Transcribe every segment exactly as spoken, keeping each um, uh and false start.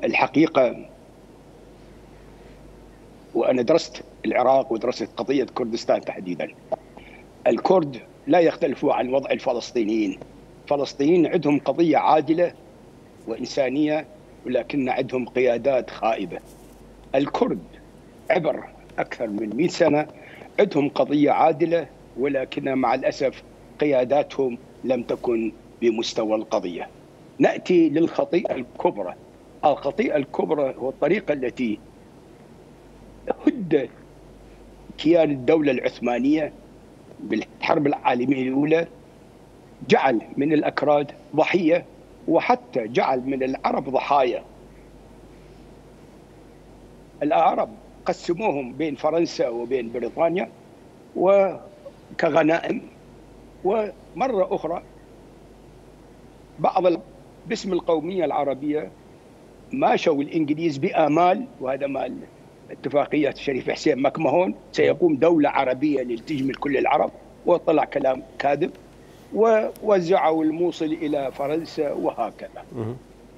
الحقيقة وأنا درست العراق ودرست قضية كردستان تحديدا. الكرد لا يختلفوا عن وضع الفلسطينيين. الفلسطينيين عندهم قضية عادلة وإنسانية، ولكن عندهم قيادات خائبة. الكرد عبر أكثر من مئة سنة عندهم قضية عادلة، ولكن مع الأسف قياداتهم لم تكن بمستوى القضية. نأتي للخطيئة الكبرى. الخطيئة الكبرى هو الطريقة التي هد كيان الدولة العثمانية بالحرب العالمية الأولى، جعل من الأكراد ضحية، وحتى جعل من العرب ضحايا. العرب قسموهم بين فرنسا وبين بريطانيا وكغنائم، ومرة أخرى بعض باسم القومية العربية ماشوا الإنجليز بآمال، وهذا مال اتفاقية الشريف حسين مكمهون، سيقوم دولة عربية لتجمل كل العرب، وطلع كلام كاذب، ووزعوا الموصل إلى فرنسا وهكذا.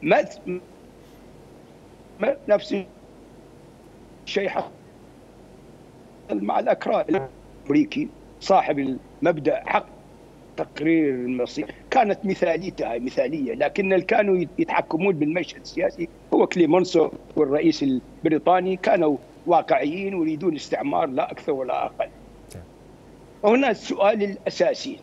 ما نفس الشيء حصل مع الأكراد. الأمريكي صاحب المبدأ حق تقرير المصير كانت مثاليتها مثالية، لكن اللي كانوا يتحكمون بالمشهد السياسي هو كليمونسو والرئيس البريطاني، كانوا واقعيين ويريدون استعمار لا أكثر ولا أقل. وهنا السؤال الأساسي،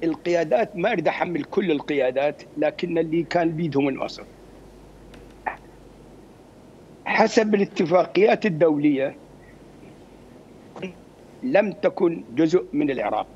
القيادات ما أريد أحمل كل القيادات، لكن اللي كان بيدهم الوسط حسب الاتفاقيات الدولية لم تكن جزء من العراق.